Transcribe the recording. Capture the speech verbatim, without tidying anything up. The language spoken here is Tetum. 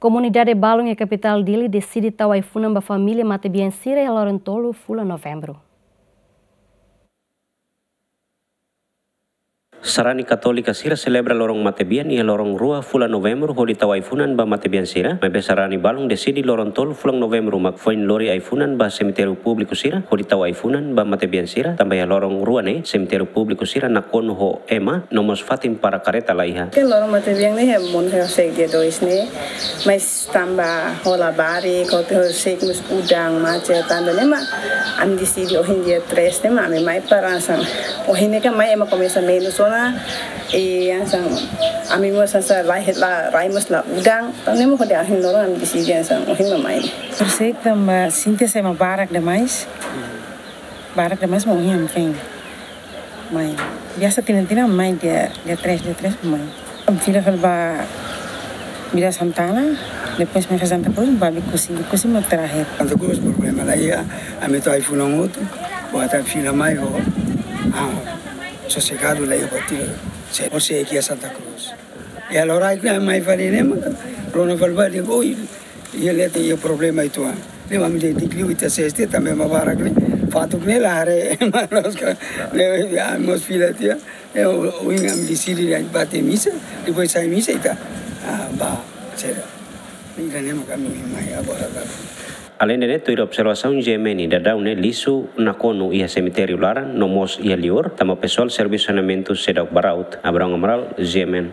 Komunidade balun iha kapitál Dili deside tau ai-funan ba família matebian sira iha loron tolu fulan Novembru. Sarani katólika sira selebra loron matebian iha loron rua fulan Novembru hodi tau ai-funan ba matebian sira, maibé sarani balun deside loron tolu fulan Novembru mak foin lori ai-funan ba semitériu públiku sira hodi tau ai-funan ba matebian sira, tanba iha loron rua ne'e semitériu públiku sira nakonu ho ema, no mós fatin para kareta laiha. Ke loron matebian ne'e, mon ke se dia dois ne'e, mas tanba ho labarik, ho te ho sei mós udan, macet, tanba ne'e mak ami deside ohin dia tres ne'e mak ami mai para hanesan. Ohin ne'e kan mai ema komesa menus ona, i hanesan ami mós hanesan rai het la, rai mós la udan, tanba ne'e mak hodi ohin loron ami deside hanesan ohin mak mai. Por sei tanba sinti hanesan ema barak demais. Barak demais mak ohin ami foin mai. Biasa tinan-tinan mai dia, dia tres, dia tres mai. Fila fali ba Vila Santana, depois mai Santa Cruz, ba Bekusi, Bekusi mak terakhir. Santa Cruz problema laiha, ami tau ai-funan hotu, buat fila mai ho, ah, sosegadu laiha buat tira. Se, o se iha Santa Cruz. Iha loraik ne'e mai fali ne'e maka, rona fali ba dia, oi, iha leten iha problema uitoan. Ne'e mak ami dehan di'ak liu ita sei este tanba ema barak ne'e. Fatuk ne'e la haree ema loos ka. Ne'e, ami mós fila tiha. Ne'e, o, ohin ami deside dehan bá to'o misa, depois sai misa ita, ah, bá, sira. Ida-ne'e mak ami mai agora ka. Alende ne'e, tuir observasaun G M N, daudaun ne'e lixu nakonu iha semitériu laran, no mós iha liur, tanba pesoál servisu saneamentu seidauk baraut. Abrão Amaral, G M N.